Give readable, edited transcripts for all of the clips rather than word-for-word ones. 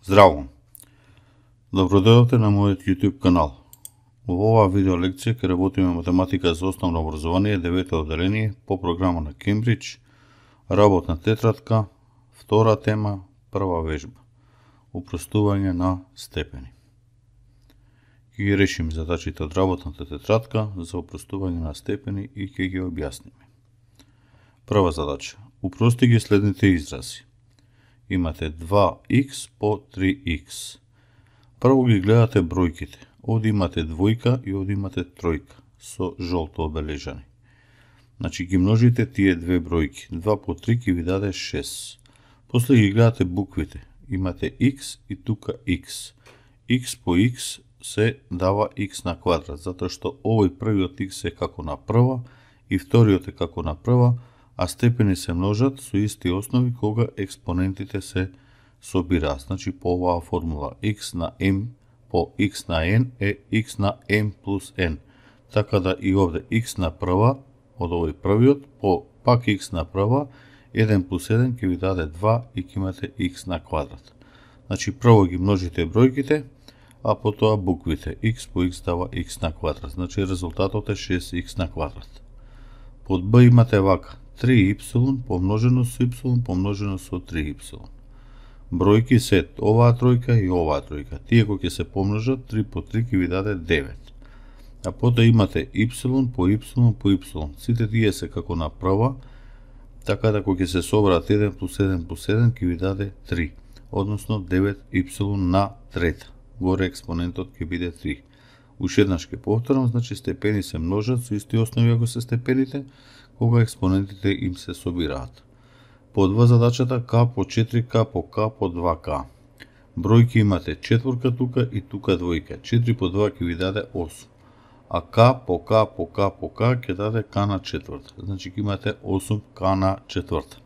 Здраво! Добродојавте на мојот YouTube канал. Во оваа видео лекција ќе работиме математика за основно образование, 9-то одделение по програма на Кембридж, работна тетрадка, втора тема, прва вежба. Упростување на степени. Ќе ги решиме задачите од работната тетрадка за упростување на степени и ќе ги објасниме. Прва задача. Упрости ги следните изрази. Имате 2x по 3x. Прво ги гледате бројките. Овде имате двојка и овде имате тројка со жолто обележани. Значи ги множите тие две бројки. 2 по 3 ќе ви даде 6. После ги гледате буквите. Имате x и тука x. x по x се дава x на квадрат, затоа што овој првиот x е како на прва и вториот е како на прва, а степени се множат со исти основи кога експонентите се собираат. Значи по оваа формула x на m по x на n е x на m плюс n. Така да и овде x на прва од овој првиот по пак x на прва 1 плюс 1 ќе ви даде 2 и ќе имате x на квадрат. Значи прво ги множите бројките, а потоа буквите. x по x дава x на квадрат. Значи резултатот е 6x на квадрат. Под b имате вака 3y помножено со y помножено со 3y. Бројки се оваа тројка и оваа тројка. Тие кои ќе се помножат 3 по 3 ќе ви даде 9. А потоа имате y по y по y. Сите тие се како на прва, така да кога ќе се соберат 1 плюс 1 плюс 1 ќе ви даде 3, односно 9y на трета. Горе експонентот ќе биде 3. Уште еднаш ќе повторам, значи степени се множат со исти основи ако се степените, кога експонентите им се собираат. По 2 задачата k по 4k по k по 2k. Бројки имате четворка тука и тука двојка. 4 по 2 ќе ви даде 8. А k по k по k по k ќе даде k на четврта. Значи ќе имате 8k на четврта.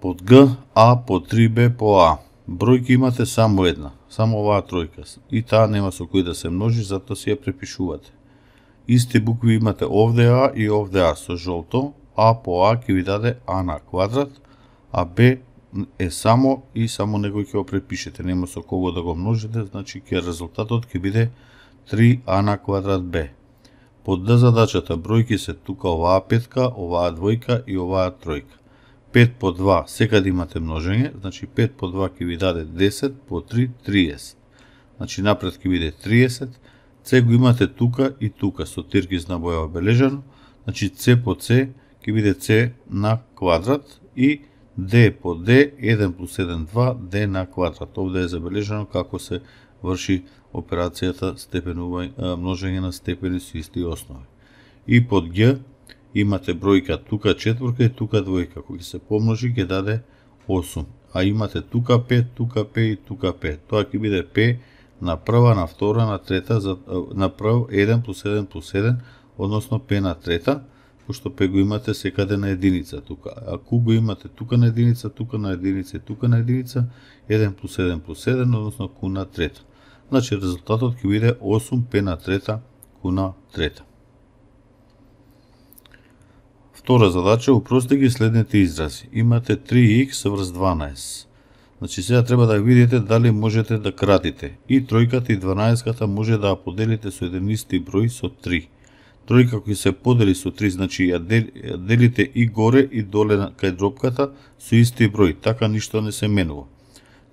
Под g a по 3b по a. Бројки имате само една, само оваа тројка. И таа нема со кој да се множи, затоа си ја препишувате. Исти букви имате овде а и овде а со жолто. А по а ќе ви даде а на квадрат, а б е само и само некој ќе го препишете. Нема со кого да го множите, значи резултатот ќе биде 3а на квадрат б. Под д задачата бројки се тука оваа петка, оваа двојка и оваа тројка. 5 по 2 секаде имате множење, значи 5 по 2 ќе ви даде 10, по 3 30. Значи напред ќе биде 30. С го имате тука и тука со тиркиз на боја обележано, значи С по С ќе биде С на квадрат и Д по Д 1 плюс 1 2 Д на квадрат. Овде е забележано како се врши операцијата множење на степени со исти основи. И под Г имате бројка тука четворка и тука двојка. Кога се помножи ќе даде 8. А имате тука 5, тука 5 и тука 5. Тоа ќе биде П на прва, на втора, на трета, на прв 1 плюс 1 плюс 1, односно П на трета, пошто П го имате секаде на единица тука. А Q го имате тука на единица, тука на единица и тука на единица, 1 плюс 1 плюс 1, односно Q на трета. Значи резултатот ќе биде 8 П на трета, Q на трета. Втора задача, упрости ги следните изрази. Имате 3x врз 12. Значи сега треба да видите дали можете да кратите. И тројката и 12-ката може да ја поделите со еден исти број со 3. Тројка кој се подели со 3, значи ја делите и горе и доле кај дропката со исти број, така ништо не се менува.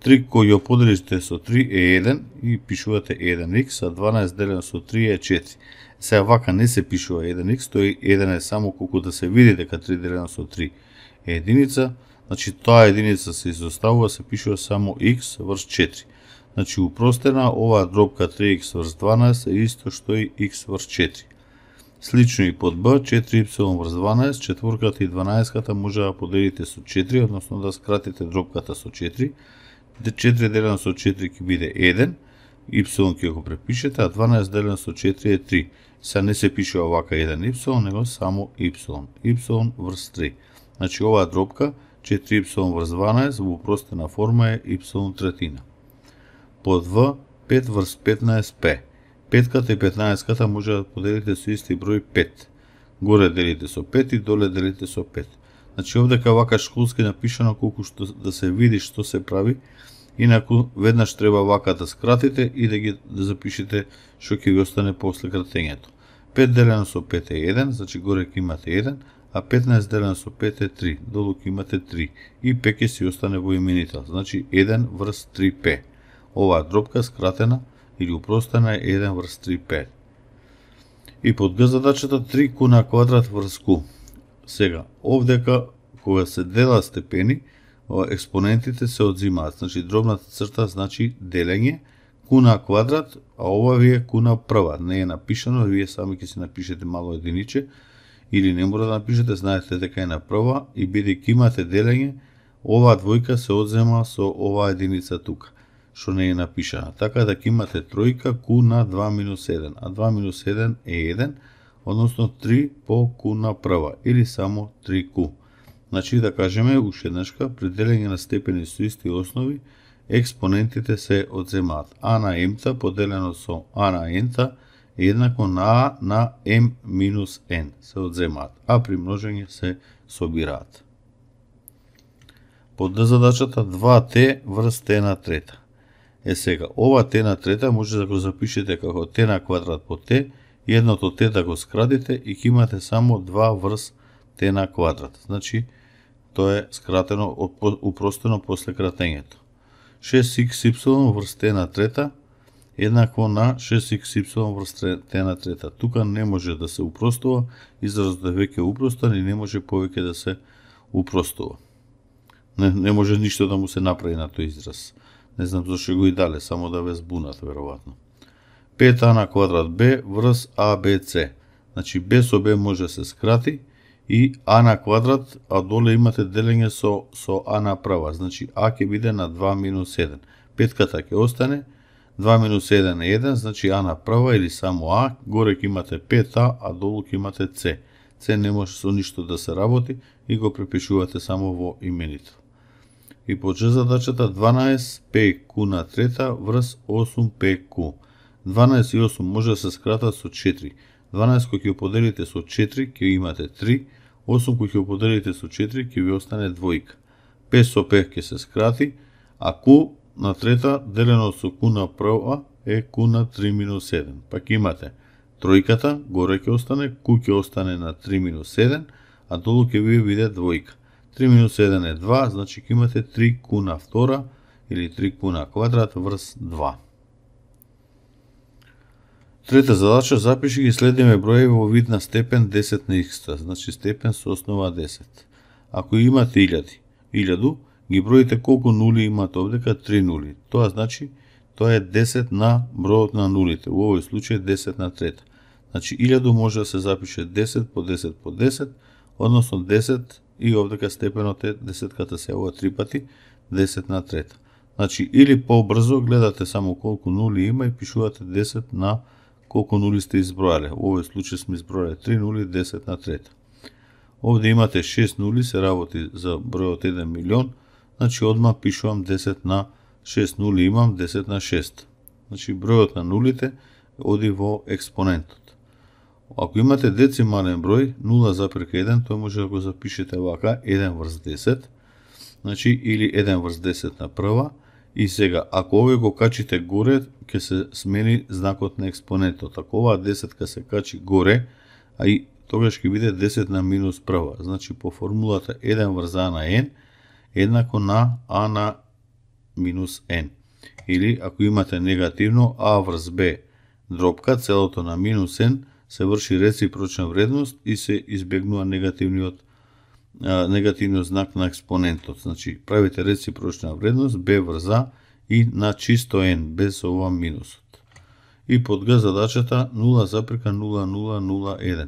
3 кој ја поделите со 3 е 1 и пишувате 1x, а 12 делено со 3 е 4. Сега вака не се пишува 1x, тој 1 е само колку да се види дека 3 делено со 3 е единица, значи таа единица се изоставува, се пишува само x врз 4. Значи упростена оваа дробка 3x врз 12 е исто што и x врз 4. Слично и под b, 4y врз 12, четворката и 12-ката може да поделите со 4, односно да скратите дробката со 4. 4 делено со 4 ќе биде 1, y ќе го препишете, а 12 делено со 4 е 3. Сега не се пишува вака 1y, него само y. y врз 3. Значи оваа дробка 4y врз 12 во упростена форма е y третина. Под v 5 врз 15 p. Петката и 15-ката може да поделите со исти број 5. Горе делите со 5 и доле делите со 5. Значи овдека вака школски напишано колку што да се види што се прави, инаку веднаш треба вака да скратите и да запишете што ќе ви остане после кратењето. 5 делено со 5 е 1, значи горе ќе имате 1, а 15 делено со 5 е 3, долу ќе имате 3. И П ќе си остане во именител, значи 1 врз 3П. Оваа дробка скратена или упростена е 1 врз 3П. И под Г задачата 3Q на квадрат врз Q. Сега, овдека, кога се дела степени, експонентите се одзимаат. Значи, дробната црта значи делење, Q на квадрат, а ова ви е Q на прва. Не е напишано, вие сами ќе си напишете мало единиче, или не мора да напишете, знаете дека е на прва, и бидејќи имате делење, оваа двојка се одзема со оваа единица тука, што не е напишана. Така да ќе имате тројка Q на 2 минус 1, а 2 минус 1 е 1, односно 3 по Q на прва, или само 3Q. Значи, да кажеме, уште еднашка, при делење на степени со исти основи, експонентите се одземаат. А на m-та поделено со А на n-та е еднакво на А на m минус n се одземаат, а при множење се собираат. Под Д задачата 2t врз t на трета. Сега, ова t на трета може да го запишете како t на квадрат по t, и едното t да го скратите и ќе имате само 2 врз t на квадрат. Значи, тоа е скратено, упростено после кратењето. 6xy врз t на трета еднакво на 6xy врз t на трета. Тука не може да се упростува, изразот е веќе упростен и не може повеќе да се упростува. Не може ништо да му се направи на тој израз. Не знам зашто го и дале, само да ве збунат, веројатно. 5a на квадрат b врз abc. Значи, b со b може да се скрати, и а на квадрат, а доле имате делење со а на прва. Значи, а ќе биде на 2 минус 1. Петката ќе остане, 2 минус 1 е 1, значи а на прва или само а, горе ќе имате 5а, а долу ќе имате c. c не може со ништо да се работи и го препишувате само во именител. И по Ж задачата 12pq на трета врз 8pq. 12 и 8 може да се скратат со 4. 12 кој ќе поделите со 4 ќе имате 3, 8 кој ќе поделите со 4 ќе ви остане двојка. 5 со 5 ќе се скрати, а q на трета делено со q на прва е q на 3 минус 7. Пак имате тројката, горе ќе остане, q ќе остане на 3 минус 7, а долу ќе ви биде двојка. 3 минус 7 е 2, значи ќе имате 3q на втора или 3q на квадрат врз 2. Трета задача, запиши ги следниме броеви во вид на степен 10 на x, значи степен со основа 10. Ако имате 1000, ги броите колку нули имат овдека, 3 нули. Тоа значи, тоа е 10 на бројот на нулите, во овој случај 10 на трета. Значи 1000 може да се запише 10 по 10 по 10, односно 10 и овдека степенот е 10-ката се ова 3 пати, 10 на трета. Значи, или побрзо гледате само колку нули има и пишувате 10 на колку нули сте избројале. Во овој случај сме избројале 3 нули, 10 на трета. Овде имате 6 нули, се работи за бројот 1 милион, значи одма пишувам 10 на 6 нули имам, 10 на 6. Значи бројот на нулите оди во експонентот. Ако имате децимален број, 0,1, тој може да го запишете вака, 1 врз 10, значи или 1 врз 10 на прва, и сега, ако овој го качите горе, ќе се смени знакот на експонентот. Ако оваа 10 се качи горе, а и тогаш ќе биде 10 на минус прва. Значи, по формулата 1 врз а на n, еднакво на а на минус n. Или, ако имате негативно, а врз б дробка, целото на минус n, се врши реципрочна вредност и се избегнува негативниот знак на експонентот. Значи, правите реципрочна вредност b врз а и на чисто n, без ова минусот. И под Г задачата 0,0001.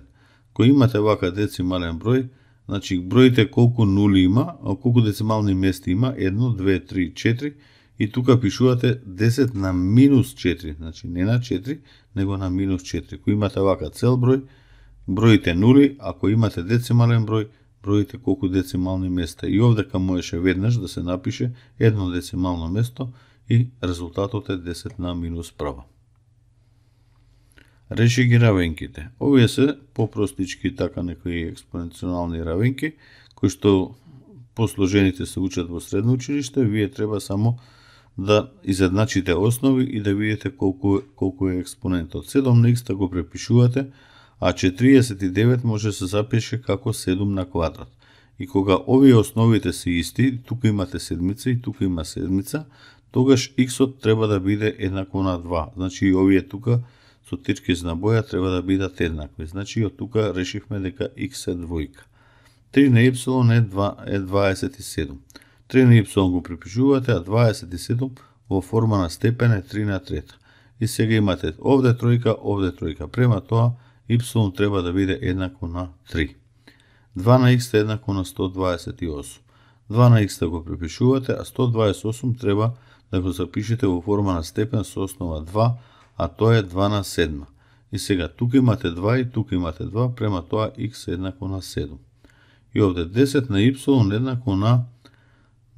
Кој имате вака децимален број, значи броите колку нули има, а колку децимални места има, 1, 2, 3, 4, и тука пишувате 10 на минус 4, значи не на 4, него на минус 4. Кој имате вака цел број, броите нули, ако имате децимален број, броите колку децимални места. И овдека можеше веднаш да се напише едно децимално место и резултатот е 10 на минус прва. Реши ги равенките. Овие се попростички така некои експоненционални равенки, кои што посложените се учат во средно училиште, вие треба само да изедначите основи и да видите колку е експонентот. 7 на x го препишувате, а 49 може да се запише како 7 на квадрат. И кога овие основите се исти, тука имате седмица и тука има седмица, тогаш x-от треба да биде еднакво на 2. Значи и овие тука со тичкизна боја треба да бидат еднакви. Значи од тука решивме дека x е двојка. 3 на y е 27. 3 на y го припишувате, а 27 во форма на степен е 3 на трета. И сега имате овде тројка. Према тоа, y треба да биде еднакво на 3. 2 на x е еднакво на 128. 2 на x го припишувате, а 128 треба да го запишете во форма на степен со основа 2, а тоа е 2 на 7. И сега тука имате 2 и тука имате 2, према тоа x е еднакво на 7. И овде 10 на y еднакво на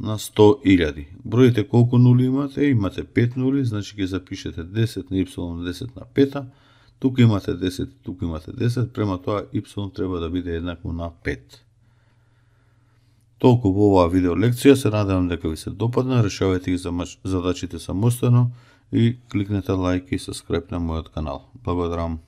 100.000. Броите колку нули имате? Имате 5 нули, значи ќе запишете 10 на y 10 на 5. Тука имате 10, тука имате 10, према тоа y треба да биде еднакво на 5. Толку во оваа видео лекција, се надевам дека ви се допадна, решавајте ги задачите самостојно и кликнете лајк и subscribe на мојот канал. Благодарам.